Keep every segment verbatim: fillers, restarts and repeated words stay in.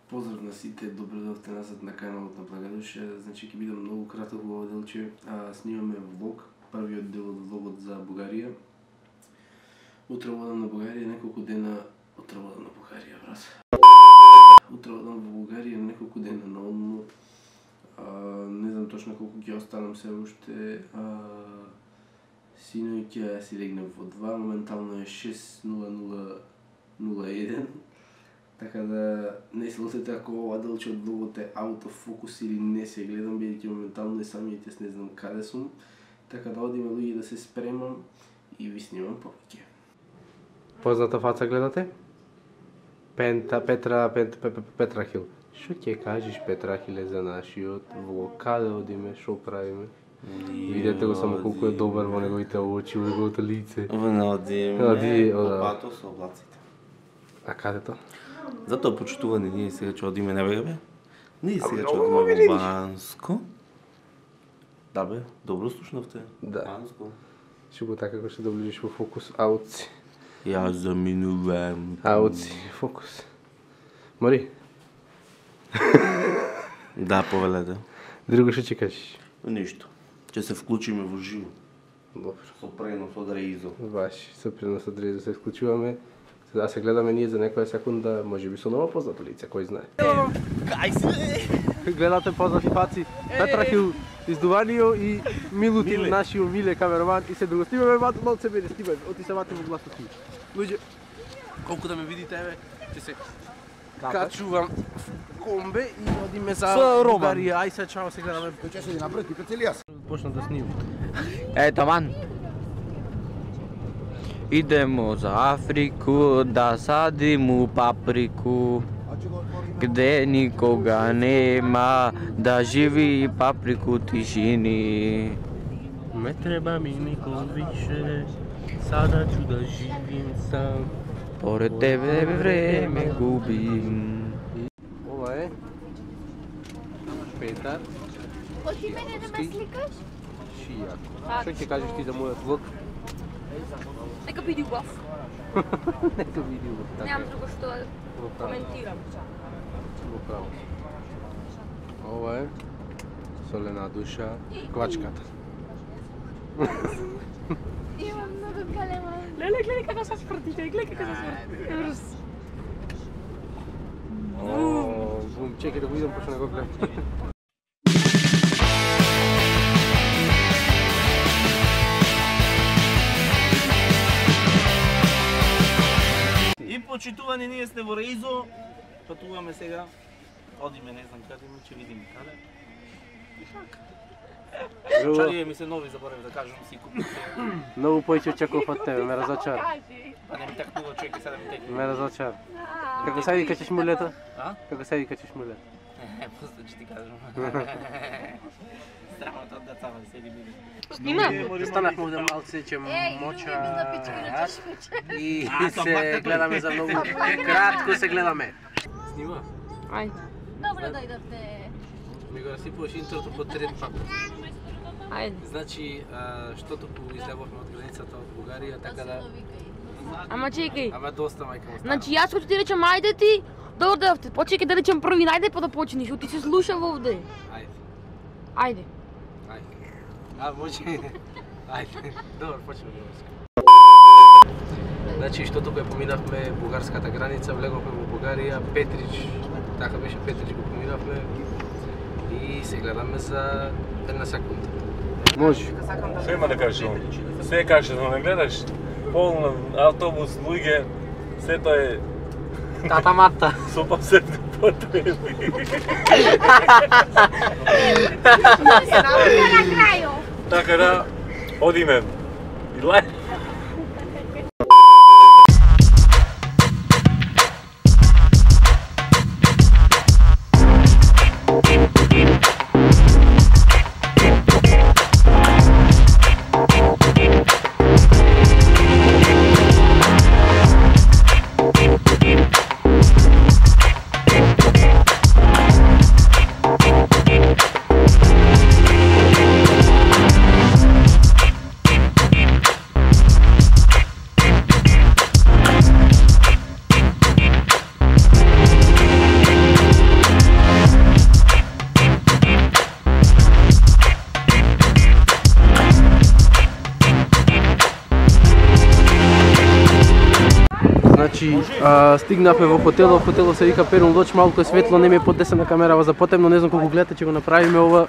Поздрав на сите, добро дојдовте назад на каналот на Благодуша. Значи ќе биде многу краток во ова делче. А, снимаме влог, првиот дел од влогот за Бугарија. Утре одам на Бугарија, неколку дена утре одам на Бугарија, брат. Утре одам во Бугарија неколку дена на одмор. Не знам точно колку ќе останам се уште. Синој ќе си легнем во два, моментално е шест нула нула нула еден. Така да не се лутете ако ова делче од влогот е аутофокус или не се гледам, бидејќи моментално и самиот јас не знам каде сум. Така да одиме луѓе да се спремам и ви снимам повеќе. Позната фаца гледате? Пента, Петра, Пет, Пет, Петрахил. Шо ќе кажеш, Петрахиле, за нашиот влог? Каде одиме, шо правиме? Видете го само колку е добар во неговите очи, во неговото лице. Одиме по пато со облаците. А каде тоа? Затоа почитувани ние сега ќе одиме, не бе, бе? Ние сега ќе одиме во Банско. Да бе, добро слушнавте. Да. Банско. Шо го така како ќе доближиш во фокус, аутси. Ја заминувам. Аутси, фокус. Мори? Да, повелете. Друго што ќе кажеш? Ништо. Ќе се вклучиме во живо. Добро. Со пренос од Реизо. Баш, со пренос од Реизо се вклучуваме. Да се гледаме ние за некоја секунда, може би со ново познато лице, кој знае. Кај се? Гледате познати фаци, Петрахил Издуванио и Милутин, Миле. нашиот миле камераман, и се друго. Снимаме ват, малце мене, снимаме, оти се вати во гласот ми. Луѓе, колку да ме видите, еве, ќе се качувам в комбе и одиме за Бугарија. Ај се чао, се гледаме. Кој ќе седи напред, пипец или јас? Почна да снимам. Е, таман. Идемо за Африку да садиме паприку, где никога нема да живи паприку тишини. Не треба ми никој више, сада ću да живим сам. Поред тебе време губим. Ова е Петар Хоти мене да ме сликаш? Шијако. Што ќе кажеш ти за мојот влог? Нека биде убав. Нека види го. Немам друго што да Во право. коментирам. Во право. Ова е солена душа, квачката. Имам многу калема. Леле, гледај како се спртите, гледај како се спртите. О, бум, чекај да го видам почна да го гледам. И почитувани ние сте во Реизо, патуваме сега. Одиме, не знам каде, ќе видиме каде. Чарија ми се нови, заборев да кажам, си купив. Многу поиќе очекував од тебе, ме разочар. Па не ми такнува чеки, сега да ми текне. Ме разочар. Како се вика ќе шмулето? А? Како се вика ќе шмулето? Е, после ќе ти кажам. Страмата од децава седи биде. Снима? Станахме овде малце, че моча и се гледаме за многу кратко се гледаме. Снима? Ајде. Добро дојдовте. Ми го расипуваш интрото по трет папа. Ајде. Значи, што туку излеговме од границата од Бугарија, така да... Ама чекај. Ама доста мајка му стана. Значи јас ќе ти речам ајде ти, добро дојдовте. Почекај да речам први, најде па да почнеш, ти се слушав овде. Ајде, Ајде. ајде. А, може... Ајде, добро, почнем да. Значи, што туку ја поминавме бугарската граница, влеговме во Бугарија, Петрич, така беше Петрич го поминавме и се гледаме за една секунда. Може. Што има да кажеш ово? Се кажеш да не гледаш? Полно автобус, луѓе, сето е Тата мата. супа се потреби. Се научи на крају. Така да, одиме. И лај. Значи, а, стигнавме во хотелот, хотелот се вика Перун Лодж, малку е светло, не ми е подесена камерава за потемно, не знам колку гледате, ќе го направиме ова.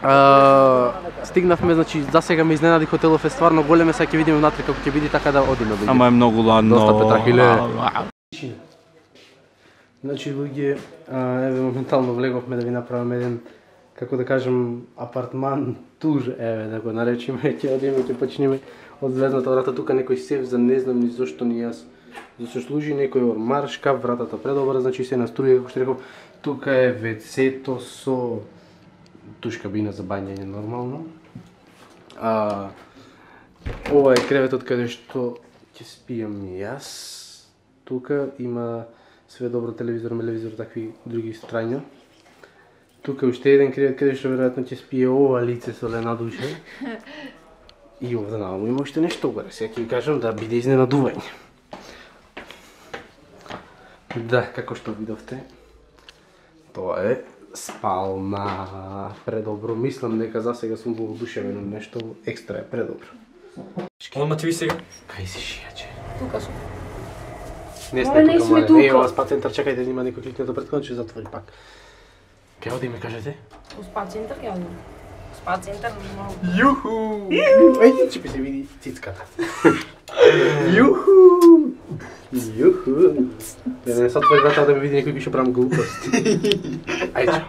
А, стигнавме, значи, за сега ме изненади хотелов, е стварно голем, е, сега ќе видиме внатре како ќе биде, така да одиме. Ама е многу ладно. Доста петрахиле. Значи, луѓе, еве моментално влеговме да ви направиме еден, како да кажем, апартман тур, еве да го наречиме, ќе одиме, ќе почнеме од звездната врата, тука некој сев за не знам ни зошто ни јас. Зашто служи некој ормар, шкаф, вратата предобра, значи се наструи, како што реков, тука е вецето со туш кабина за бањање нормално. А, ова е креветот каде што ќе спијам јас. Тука има све добро, телевизор, телевизор, такви други страња. Тука уште еден кревет каде што веројатно ќе спие ова лице со лена душа. И овде наваму има уште нешто горе, сега ќе ви кажам да биде изненадување. Да, како што видовте, тоа е спална. Предобро, мислам дека за сега сум воодушевен од нешто екстра е предобро. Одма ти ви сега? Кај си шијаче? Тука сум. Не Абе, не сме тука. Е, ова спа центар, чекајте, има некој кликнато пред кој ќе затвори пак. Кај одиме, кажете? У спа центар ќе одиме. Спа центар нормално. Јуху! Ајде, ќе се види цицката. Јуху! Јуху! Да не се отвори врата да ме види некој ќе што правам глупости. Ајде.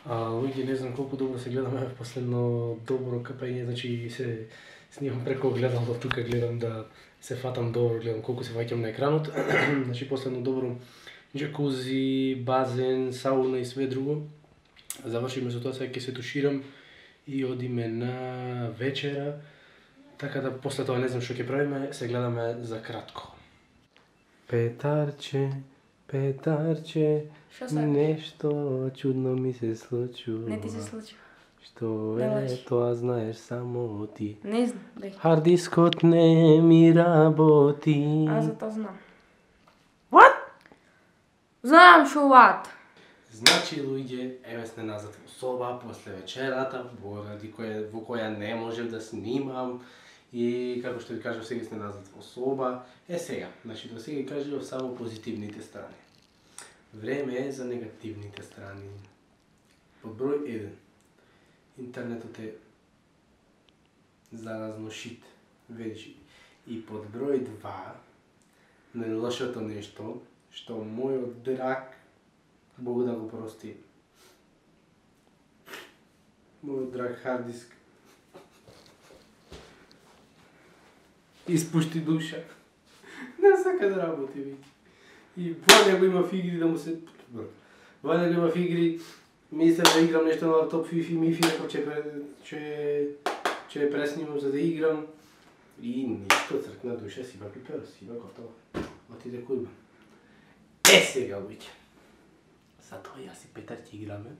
Луѓе, не знам колку добро се гледаме последно добро капање, значи се снимам преко огледало, тука гледам да се фатам добро, гледам колку се ваќам на екранот. Значи последно добро джакузи, базен, сауна и све друго. Завршиме со тоа, сега ќе се туширам и одиме на вечера. Така да после тоа не знам што ќе правиме, се гледаме за кратко. Петарче, Петарче, нешто чудно ми се случува. Не ти се случува. Што Не е, лажи. тоа знаеш само ти. Не знам, бе. Хардискот не ми работи. Аз за тоа знам. What? Знам шо what? Значи, луѓе, еве сме назад во соба, после вечерата, поради која, во која не можев да снимам. И како што ви кажав, сега сме назад во соба. Е сега, значи до сега кажав само позитивните страни. Време е за негативните страни. Под број еден. Интернетот е заразно шит, вечи. И под број два, најлошото нешто, што мојот драг, Бог да го прости, мојот драг хардиск, испушти душа. Не сака да работи веќе. И во него има игри да му се... Во него има игри, мислам да играм нешто на лаптоп, фифи, мифи, ако ќе ќе ќе преснимам за да играм. И ништо, цркна душа, сива пипера, сива готово. Отиде кујба. Е сега, луѓе. Затоа јас и Петар ќе играме.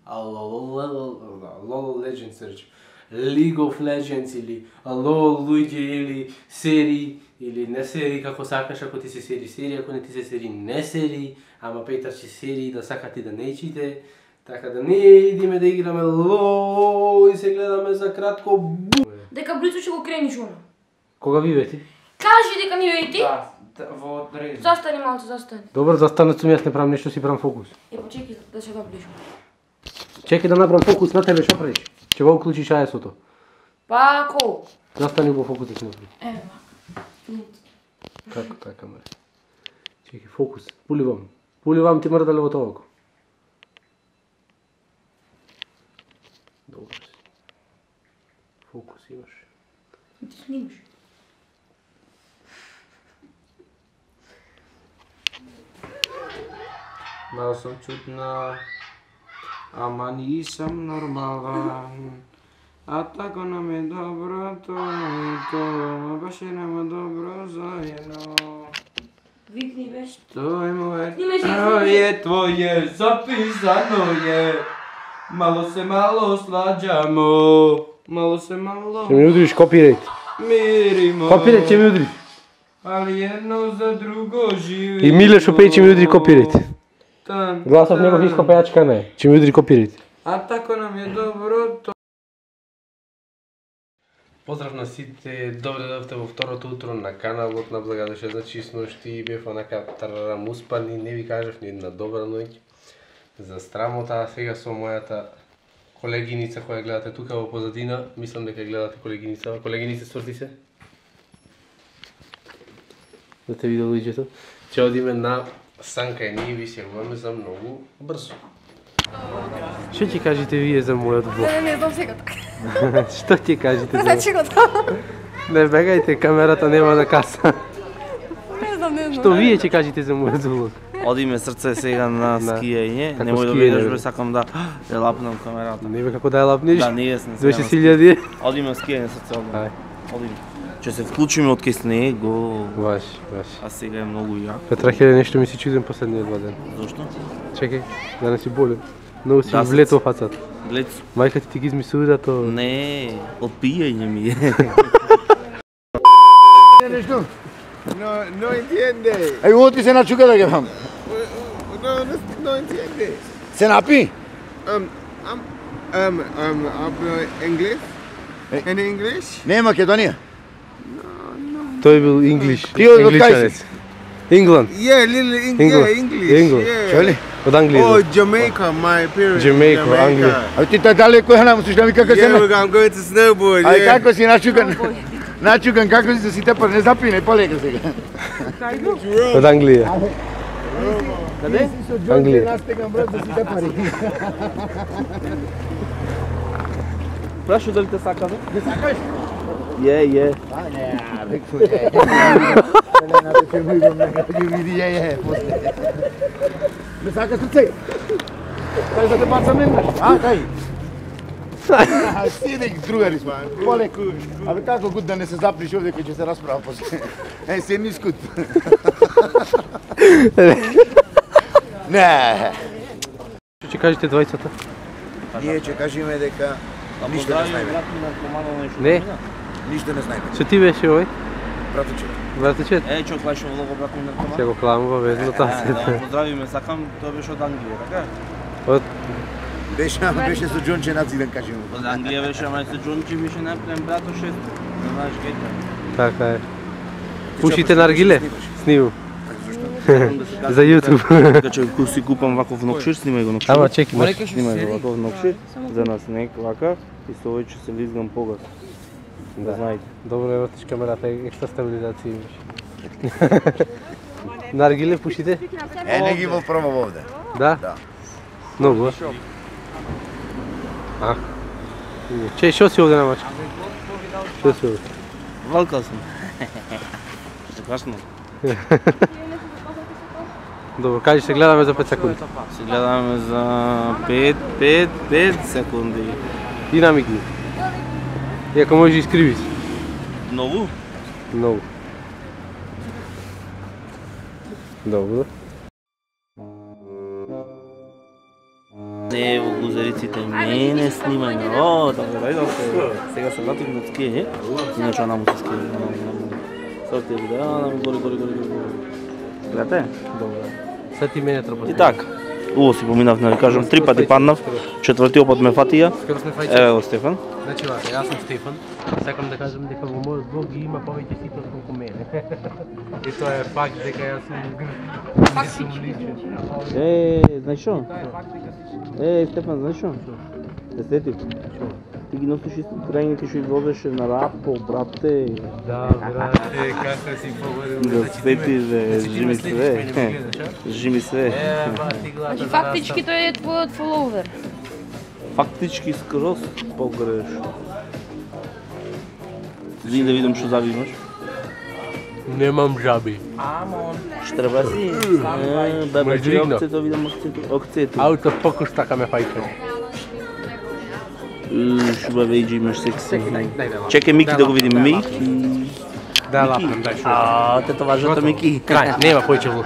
LOL Legends се рече. League of Legends или LOL луѓе или серии или не серии како сакаш, ако ти се сери серии, ако не ти се сери не серии, ама Петар ќе серии да сакате да не чите. Така да не идеме да играме LOL и се гледаме за кратко бу. Дека близо ќе го крениш оно. Кога ви вети? Кажи дека ми вети. Да, во дрез. Застани малце, застани. Добро, застанат сум, јас не правам нешто, си правам фокус. Е, почекай да се доближам. Чекај да направам фокус на тебе, што правиш? Ќе го уклучиш аесото. Па, колку? Застани во фокус да си направи. Еве, вака. Како така, маре? Чекај, фокус. Пуливам. Пуливам ти мрдале во тоа око. Добро си. Фокус имаш. Ти снимаш. Мало сум чудна, ама нисам нормален. А тако нам е добро тоа и тоа, баше нам е добро заедно. Викни беше. Тоа е мое, Снимай се, тоа снимай се. е твое, записано е. Мало се мало сладжамо, мало се мало. Ќе ми удриш копирайт. Миримо. Копирайт ќе ми удриш. ali jedno za drugo živimo. И Милешо пее, че ми удри копирайт. Тан, Гласов тан. негов иско пејачка не, че ми удри копирайт. А тако нам е доброто. Поздрав на сите, добре дојдовте во второто утро на каналот на Благодеше. Значи сношти бев онака тарарам успан и не ви кажав ни една добра ноќ за страмота, а сега со мојата колегиница која гледате тука во позадина, мислам дека гледате колегиница. Колегиница, сврти се. Да те видел лиѓето. Ќе одиме на Санка и ние ви се јавуваме за многу брзо. Што ќе кажете вие за мојот влог? Не, не знам сега така. Што ќе кажете за Значи го тоа. Не бегајте, камерата нема на каса. Не знам, не знам. Што вие ќе кажете за мојот влог? Одиме срце сега на Да. скијање. Како Немој да скијање, видиш, бе? бе, сакам да ја лапнам камерата. Не бе како да ја лапниш? Да, ние сме сега дваесет на илјади. Одиме на скијање срце, одиме. Ај. Одиме. Ќе се вклучиме од кај снего. Баш, баш. А сега е многу јако. Петрахеле, нешто ми се чудам последниот два ден. Зошто? Чекај, да не си болен. Многу си Да, влето фацат. Глед, Мајка ти ти ги измислува да то... не, од пијање ми е. No, no entiende. Ai, uno ti se nachuca da gafam. No, no, no entiende. Se napi? Um, um, um, um, hablo inglés? Eh. In English? Ne, Makedonija. Тој бил инглиш. Ти од кај Ингличанец. си? Ингланд. Yeah, little Eng- England. yeah, English. England. Yeah. Чоли? Од Англија. Oh, Jamaica, my parents. Jamaica, Англија. A ti ta daleko je nam, slušaj mi kako se Yeah, na... we're- I'm going to snowboard. Aj, yeah. kako si načukan? Načukan, kako si se tepar, ne zapine, poleka se ga. Од Англија. Kade? Англија. Nastegam, brat, da si tepari. Прашо дали те сака, бе? Ne sakaš? Е, е. A ne, rekao je. Ne, na te filmu idem, ne vidi, je, je, posle. Ne sakaš srce? Kaj da te bacam nema? A, kaj? Sidi, drugari smo. Polek. A kako god da ne se zapriš ovdje kad će se rasprava posle. E, sedni skut. Ne. Што ќе кажете двајцата? Ние ќе кажеме дека ништо не знаеме. Не? Ништо не знаеме. Што ти беше овој? Братуче. Братичет? Е, чо клашо влого брат ми наркоман. Се го кламува везно Е, таа да се. го поздравиме, сакам, тој беше од Англија, така? Од Беше, беше со Џонче нациден, кажеме. Од Англија беше, ама се Џончи беше најпрем брато шест. Не знаеш кај така е. Пушите наргиле? Снимам. За YouTube. Така че ако си купам ваков нокшир, снимај го нокшир. Ама чеки, може. Снимај го ваков нокшир, за на снег вака и со овој ќе се лизгам погас. Да знаете. Добро е вртиш камерата, екстра стабилизација имаш. Наргиле пушите? Е, не ги во пробав овде. Да? Да. Многу, а? Че, што си овде на мачка? Што си овде? Валкал сум. Што касно. Добро, кажи се гледаме за пет секунди. Се гледаме за пет, пет, пет секунди. И намигни. И ако можеш искриви се. Нову? Многу. Добро. Не, во гузериците не, не снимај ме. О, така да идам се. Сега се вратив на скијање. Иначе она му се скијање. Сега ти видео, она ми гори, гори, гори, гори. Гледате? Добро. Сега ти мене треба. И така. Уво си поминав, да кажам, три пати паднав. Четвртиот пат ме фатија. Скоро сме фајче. Еве го Стефан. Значи, вака, јас сум Стефан. Сакам да кажам дека во мојот блог ги има повеќе сите отколку мене. И тоа е факт дека јас сум личен. Е, знаеш што? Е, Стефан, знаеш што? Се сетив. Ти ги носиш исто крајните што извозеше на Рапо, брате. Да, брате, како си погодил. Да светиш, бе, жими све. Жими све. Е, бати глата. Значи фактички тој е твојот фоловер. Фактички скроз погрешно. Зини да видам што заби имаш. Немам жаби. Штреба си. Е, бе, Ме че дигна. окцето, видам окцето. Окцето. Ауто покуш така ме фајче. Шуба вејджи имаш секси. Чекај Мики да го видиме. Мики. Да, лапнам, дај шо. А, тетоважата Мики. Крај, нема повеќе влог.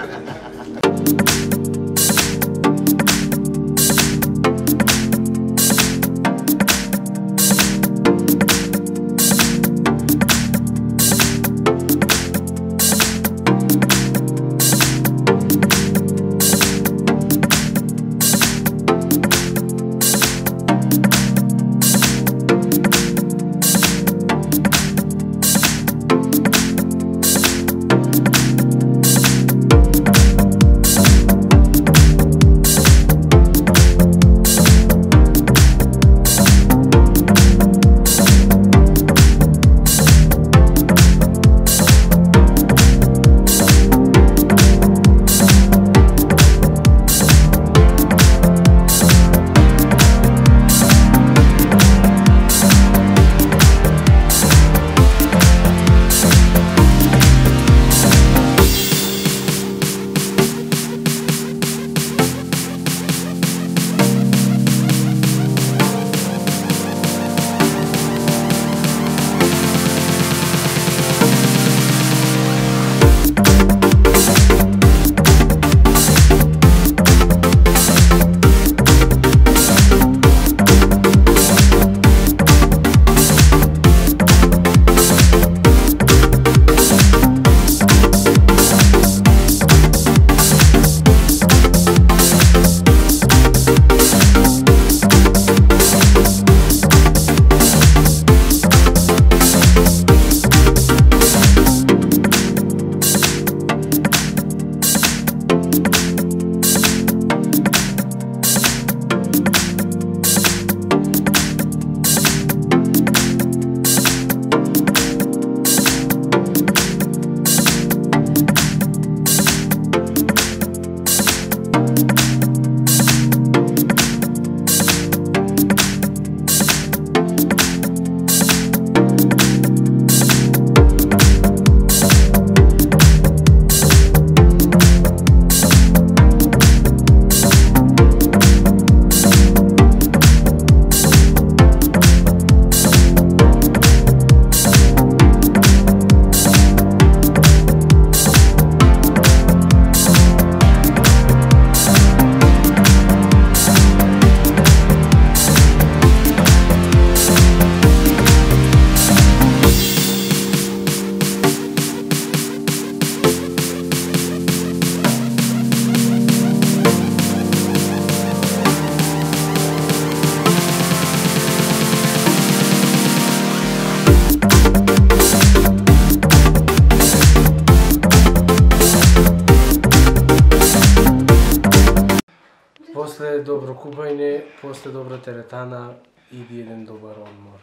купање, после добра теретана, иди еден добар одмор.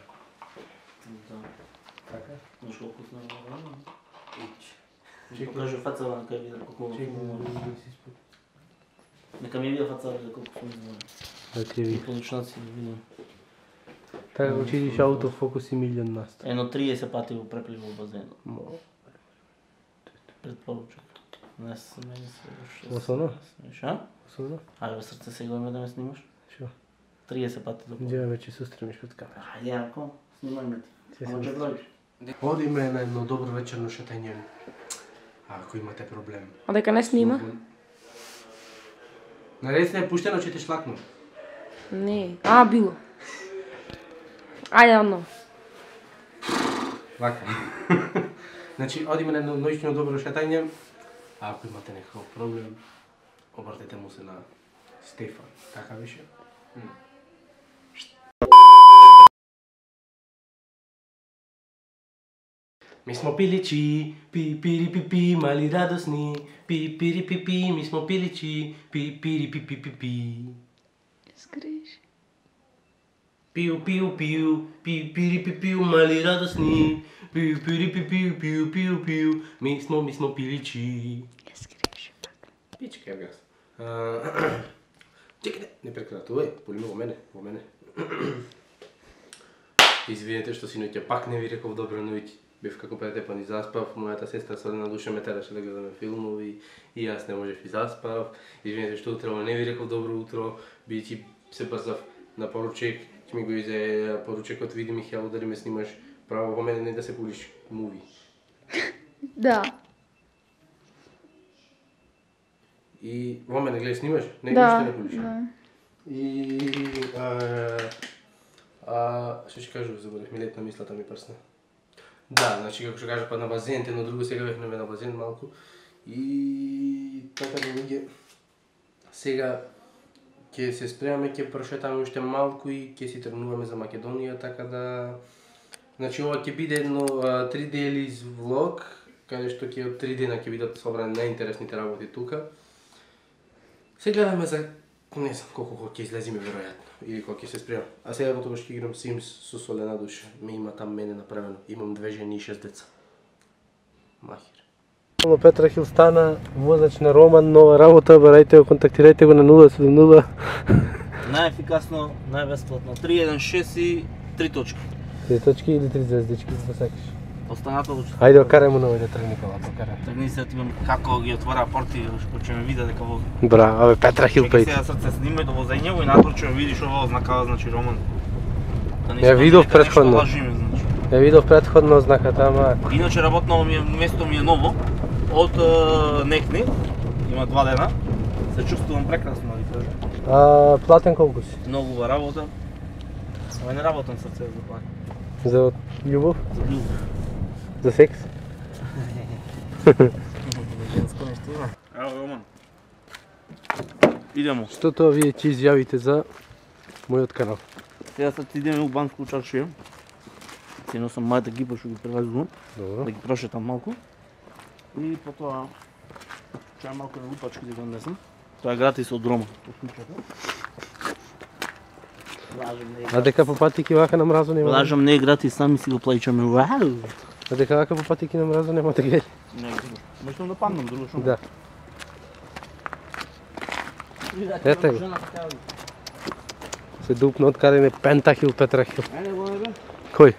Да. Така? Знаеш колку сме одмор? Нека покажи фацава, нека видам колку одмор. Нека ми вида фацава за колку сме одмор. Да ти ви. Получнаци да видам. Така го чидиш аутофокус и милион на сто. Едно триесет пати го преплив во базенот. Предпоручак. Не се мене се. Осоно? Ша? Осоно? Ајде срце сега ме да ме снимаш. Шо? триесет пати до. Где веќе се стремиш пред камера. Ајде, ако снимај ме ти. Може да дојдеш. Одиме на едно добро вечерно шетање. Ако имате проблем. А дека не снима? Нареците е пуштено, че те шлакну. Не. А, било. Ајде, одно. Вака. Значи, одиме на едно ноќно добро шетање. А ако имате некаков проблем, обратете му се на Стефан. Така беше? Ми смо пиличи, пи пири пи пи, мали радосни, пи пири пи пи, ми смо пиличи, пи пири пи пи пи пи. Скриш. Пиу пиу пиу, пи пири пи пиу, мали радосни, пиу пири пи пиу, пиу пиу пиу, ми смо ми смо пиличи. Скриш. Пичка ја гас. Чекайте, не прекратувај, полиме во мене, во мене. Извинете што синоќа пак не ви реков добра ноќ. Бев како претепан и заспав, мојата сестра со една душа ме тераше да гледаме филмови и јас не можев и заспав. Извинете што утро не ви реков добро утро, бидејќи се брзав на поручек, ќе ми го изе поручекот, види ми ја удари ме снимаш право во мене, не да се пулиш муви. Да. И во мене гледај снимаш, не Да, ништо не пулиш. да. И а, а што ќе кажував, заборев ми летна мислата ми прсна. Да, значи како што кажа па на базен, едно друго сега бевме на базен малку. И така да луѓе. Сега ќе се спремаме, ќе прошетаме уште малку и ќе си тргнуваме за Македонија, така да значи ова ќе биде едно а, три дели влог, каде што ќе од три дена ќе бидат собрани најинтересните работи тука. Се гледаме за не знам колку ќе излезиме веројатно или кога ќе се спремам. А сега во тогаш ќе играм Sims со солена душа. Ме има там мене направено. Имам две жени и шест деца. Махир. Петра Хил стана возач на Роман, нова работа, барајте го, контактирајте го на нула седум нула. Најефикасно, најбесплатно. три еден шест и три точки. Три точки или три звездички, за да сакаш? Останато лучше. Ајде окарај му нови да тргни колата, окарај. Тргни се ти како ги отвора порти, што ќе ме види дека вози. Бра, абе Петра Хил пејте. Сега срце снимај до возење и надвор ќе видиш ова ознакава, значи Роман. Ја видов претходно. Ја видов претходно ознаката, ама Иначе работно ми е, место ми е ново, од Нехни, има два дена. Се чувствувам прекрасно, да ви кажа. А платен колку си? Многу убава работа. Ама не работам срце за платен. За љубов? За љубов. За секс? Женско нешто има. Ево Роман. Идемо. Што тоа вие ќе изјавите за мојот канал? Сега sad ideme u Bansku čaršiju. Cijeno sam majta gipa što gi prelazu. Dobro. Da gi prošetam malko. I потоа ќе малку на лупачки да го однесам. Тоа е гратис од Рома. А дека по патики вака на мразо нема? Лажам, не е гратис, сами си го плаќаме. Вау! А дека вака по патики на мразо нема да гели? Не, можам да паднам друго што. Да. Ете го. Се дупна од каде не Пентахил Петрахил. Ајде го не бе. Кој?